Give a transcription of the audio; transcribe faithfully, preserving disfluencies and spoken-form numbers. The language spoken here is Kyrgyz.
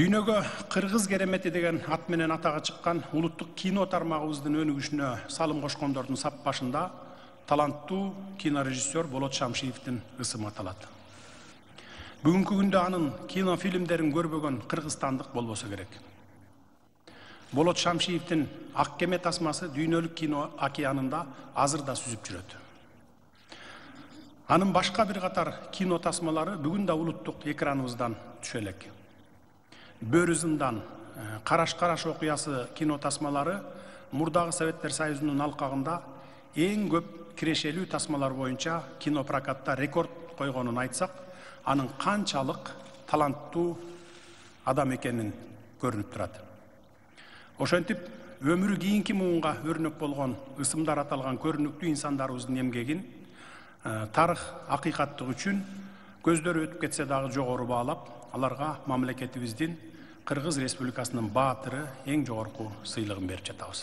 Дүйнөгө Кыргыз керемети деген ат менен атага чыккан улуттук кино тармагыбыздын өнүгүшүнө салым кошкондордун сап башында таланттуу кинорежиссер Болот Шамшиевдин ысымы аталат. Бүгүнкү күндө анын кинофильмдерин көрбөгөн кыргызстандык болбосо керек. Болот Шамшиевдин Ак кеме тасмасы дүйнөлүк кино океанында азыр да сүзүп жүрөт. Анын башка бир катар кино тасмалары бүгүн да улуттук экраныбыздан түшө элек. Бөрү зындан, Караш-Караш окуясы кино тасмалары мурдагы Советтер Союзунун алкагында эң көп кирешелүү тасмалар боюнча кино прокатта рекорд койгонун айтсак, анын канчалык таланттуу адам экенин көрүнүп турат. Ошентип, өмүрү кийинки муунга өрнөк болгон ысымдар аталган көрүнүктүү инсандарыбыздын эмгегин тарых акыйкаттык үчүн көздөрү өтүп кетсе дагы жогору баалап, аларга мамлекетибиздин Кыргыз Республикасынын баатыры эң жогорку сыйлыгын берип жатабыз.